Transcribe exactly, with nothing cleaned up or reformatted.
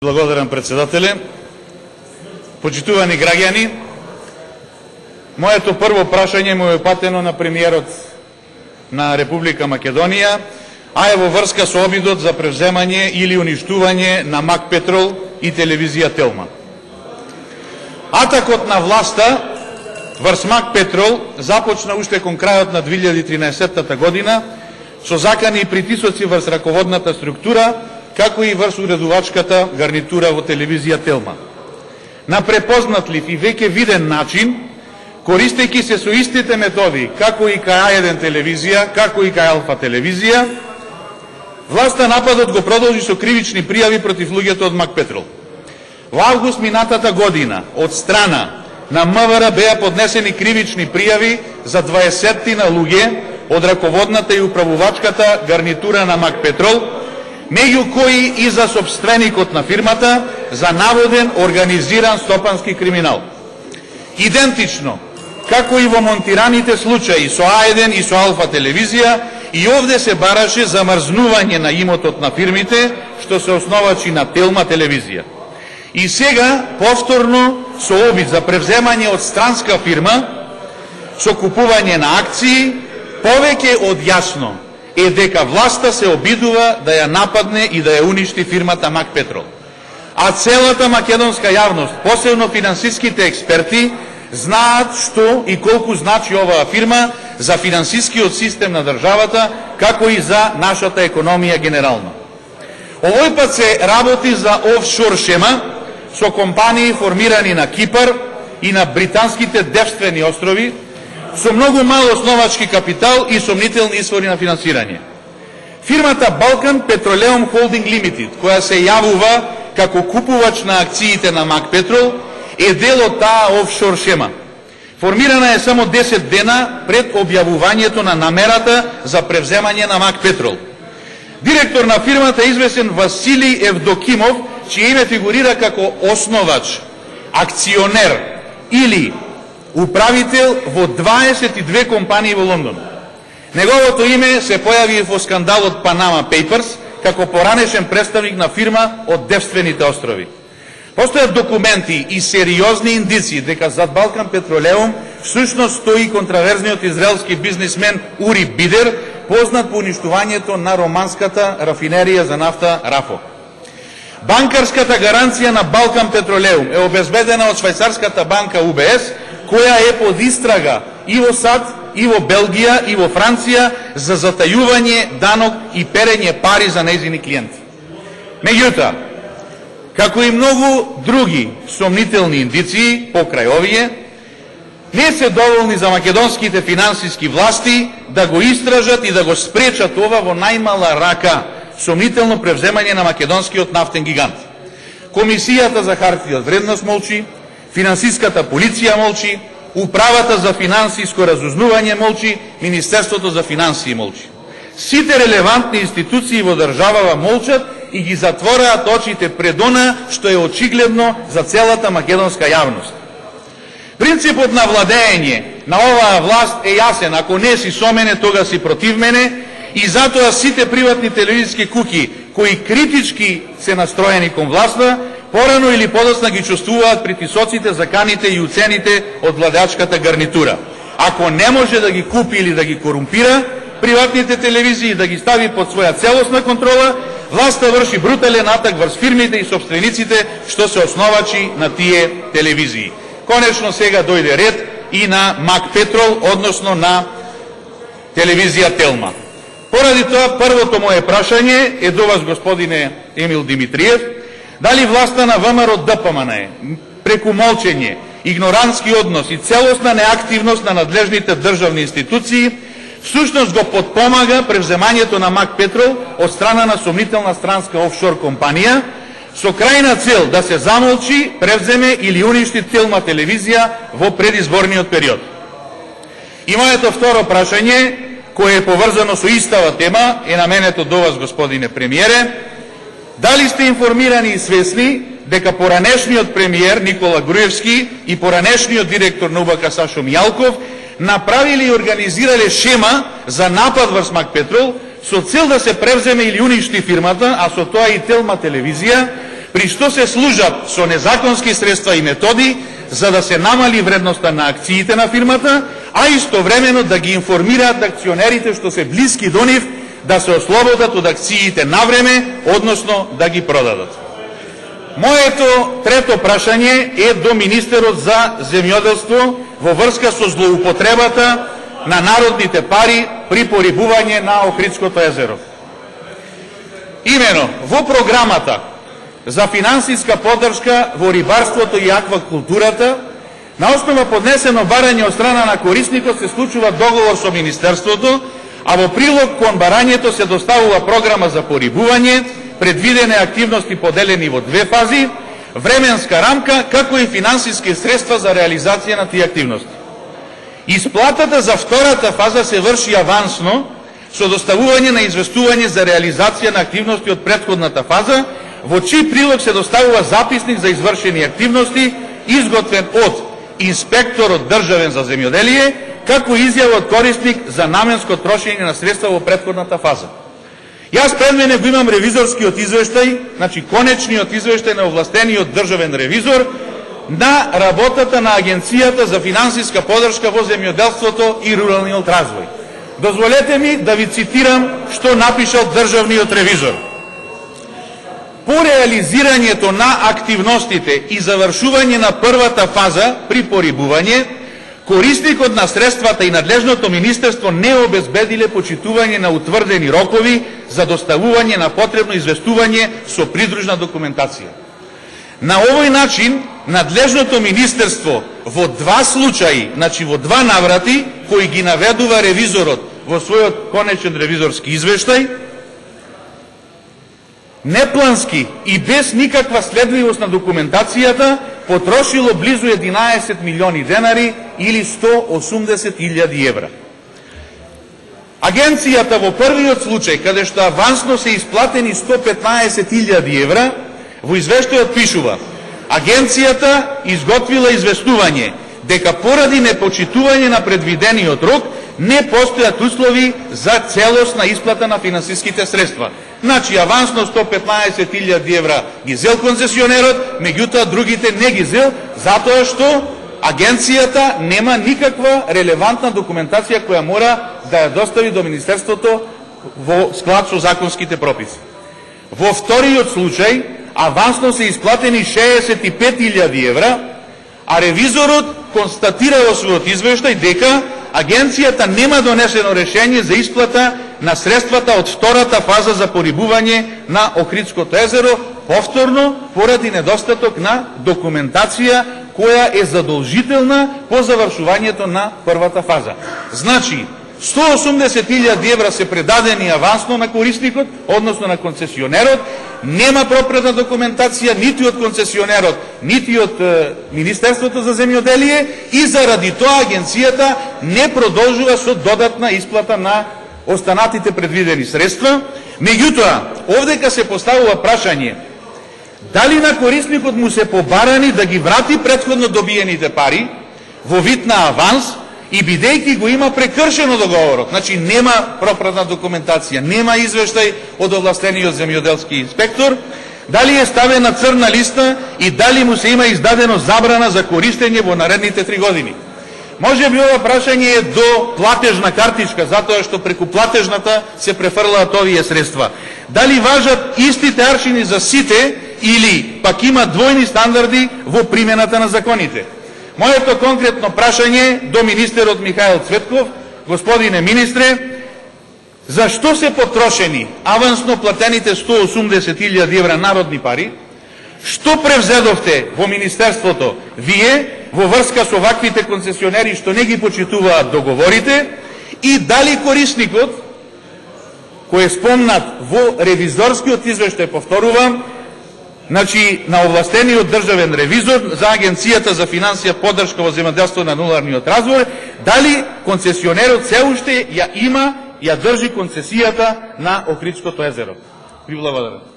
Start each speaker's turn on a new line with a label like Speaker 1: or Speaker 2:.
Speaker 1: Благодарам, председателе. Почитувани граѓани, моето прво прашање му е патено на премиерот на Република Македонија, а е во врска со обидот за превземање или уништување на Мак Петрол и телевизија Телма. Атакот на власта врз Мак Петрол започна уште кон крајот на две илјади и тринаесетта година со закани и притисоци врз раководната структура, како и врз уредувачката гарнитура во телевизија Телма. На препознатлив и веќе виден начин, користејќи се со истите методи, како и кај А еден телевизија, како и кај Алфа телевизија, власта нападот го продолжи со кривични пријави против луѓето од Мак Петрол. Во август минатата година, од страна на М В Р беа поднесени кривични пријави за дваесеттина луѓе од раководната и управувачката гарнитура на Мак Петрол, меѓу кои и за собственикот на фирмата за наводен организиран стопански криминал. Идентично, како и во монтираните случаи со А еден и со Алфа телевизија, и овде се бараше замрзнување на имотот на фирмите, што се основачи на Телма телевизија. И сега, повторно, со обид за превземање од странска фирма, со купување на акции, повеќе од јасно е дека власта се обидува да ја нападне и да ја уништи фирмата Мак Петрол. А целата македонска јавност, посебно финансиските експерти, знаат што и колку значи оваа фирма за финансискиот систем на државата, како и за нашата економија генерално. Овој пат се работи за офшор шема со компании формирани на Кипар и на британските девствени острови, со многу мал основачки капитал и сомнителни извори на финансирање. Фирмата Балкан Петролеум Холдинг Лимитед, која се јавува како купувач на акциите на Мак Петрол, е дел од таа офшор шема. Формирана е само десет дена пред објавувањето на намерата за превземање на Мак Петрол. Директор на фирмата е известен Василий Евдокимов, чие име фигурира како основач, акционер или управител во дваесет и две компании во Лондон. Неговото име се појави во скандалот Панама Papers како поранешен представник на фирма од девствените острови. Постојат документи и сериозни индици дека зад Балкан Петролеум всушност стои контраверзниот израелски бизнисмен Ури Бидер, познат по уништувањето на романската рафинерија за нафта Рафо. Банкарската гаранција на Балкан Петролеум е обезбедена од швајцарската банка У Б С, која е под истрага и во САД, и во Белгија, и во Франција за затајување данок и перење пари за нејзини клиенти. Меѓутоа, како и многу други сомнителни индиции покрај овие, не се доволни за македонските финансиски власти да го истражат и да го спречат ова во најмала рака сомнително превземање на македонскиот нафтен гигант. Комисијата за хартија од вредност молчи, финансиската полиција молчи, управата за финансиско разузнување молчи, Министерството за финансии молчи. Сите релевантни институции во државава молчат и ги затвораат очите пред она што е очигледно за целата македонска јавност. Принципот на владење на оваа власт е јасен: ако не си со мене, тога си против мене, и затоа сите приватни телевизиски куќи кои критички се настроени кон власта, порано или подоцна ги чувствуваат притисоците, заканите и уцените од владеачката гарнитура. Ако не може да ги купи или да ги корумпира приватните телевизии и да ги стави под своја целосна контрола, власта врши брутален атак врз фирмите и собствениците што се основачи на тие телевизии. Конечно сега дојде ред и на Мак Петрол, односно на телевизија Телма. Поради тоа, првото моje прашање е до вас, господине Емил Димитриев: дали власта на Вэ М Р Д П М Н е преку молчење, игнорантски однос и целосна неактивност на надлежните државни институции всушност го подпомага превземањето на Мак Петрол од страна на сомнителна странска офшор компанија со крајна цел да се замолчи, превземе или уништи Телма телевизија во предизборниот период? И моето второ прашање, кое е поврзано со истава тема, е наменето до вас, господине премиере: дали сте информирани и свесни дека поранешниот премиер Никола Груевски и поранешниот директор на У Б К Сашо Мијалков направили и организирале шема за напад врз Мак Петрол со цел да се превземе или уништи фирмата, а со тоа и Телма телевизија, при што се служат со незаконски средства и методи за да се намали вредноста на акциите на фирмата, а истовремено да ги информираат акционерите што се блиски до нив да се ослободат од акциите на време, односно да ги продадат. Моето трето прашање е до министерот за земјоделство во врска со злоупотребата на народните пари при порибување на Охридското езеро. Имено, во програмата за финансиска поддршка во рибарството и аквакултурата, на основа поднесено барање од страна на корисникот се случува договор со Министерството, а во прилог кон барањето се доставува програма за порибување, предвидене активности поделени во две фази, временска рамка, како и финансиски средства за реализација на тие активности. Исплатата за втората фаза се врши авансно, со доставување на известување за реализација на активности од претходната фаза, во чиј прилог се доставува записник за извршени активности, изготвен од инспекторот државен за земјоделие, како изјава од корисник за наменско трошење на средства во претходната фаза. Јас пред мене го имам ревизорскиот извештај, значи конечниот извештај на овластениот државен ревизор на работата на Агенцијата за финансиска поддршка во земјоделството и руралниот развој. Дозволете ми да ви цитирам што напишал државниот ревизор. По реализирањето на активностите и завршување на првата фаза при порибување, корисникот на средствата и надлежното министерство не обезбедиле почитување на утврдени рокови за доставување на потребно известување со придружна документација. На овој начин, надлежното министерство во два случаи, значи во два наврати, кои ги наведува ревизорот во својот конечен ревизорски извештај, неплански и без никаква следливост на документацијата, потрошило близу единаесет милиони денари или сто осумдесет илјади евра. Агенцијата во првиот случај, каде што авансно се исплатени сто петнаесет илјади евра, во извештајот пишува: Агенцијата изготвила известување дека поради непочитување на предвидениот рок не постојат услови за целосна исплата на финансиските средства. Значи, авансно сто петнаесет илјади евра ги зел концесионерот, меѓутоа другите не ги зел, затоа што агенцијата нема никаква релевантна документација која мора да ја достави до Министерството во склад со законските прописи. Во вториот случај, авансно се исплатени шеесет и пет илјади евра, а ревизорот констатира во својот извештај дека агенцијата нема донесено решение за исплата на средствата од втората фаза за порибување на Охридското езеро, повторно поради недостаток на документација која е задолжителна по завршувањето на првата фаза. Значи, сто осумдесет илјади евра се предадени авансно на корисникот, односно на концесионерот, нема пропратна документација нити од концесионерот, нити од е, Министерството за земјоделие и заради тоа агенцијата не продолжува со додатна исплата на останатите предвидени средства. Меѓутоа, овдека се поставува прашање дали на корисникот му се побарани да ги врати претходно добиените пари во вид на аванс, и бидејќи го има прекршено договорот, значи нема пропратна документација, нема извештај од овластениот земјоделски инспектор, дали е ставен на црна листа и дали му се има издадено забрана за користење во наредните три години. Може би ова прашање е до платежна картичка, затоа што преку платежната се префрлаат овие средства. Дали важат истите аршини за сите или пак има двојни стандарди во примената на законите? Моето конкретно прашање до министерот Михаил Цветков: господине министре, зашто се потрошени авансно платените сто осумдесет илјади евра народни пари? Што превзедовте во Министерството вие во врска со ваквите концесионери што не ги почитуваат договорите? И дали корисникот, кој е спомнат во ревизорскиот извештај, повторувам, значи на овластениот државен ревизор за Агенцијата за финансија поддршка во земјоделство на руралниот развој, дали концесионерот се уште ја има, ја држи концесијата на Охридското езеро? Ви благодарам.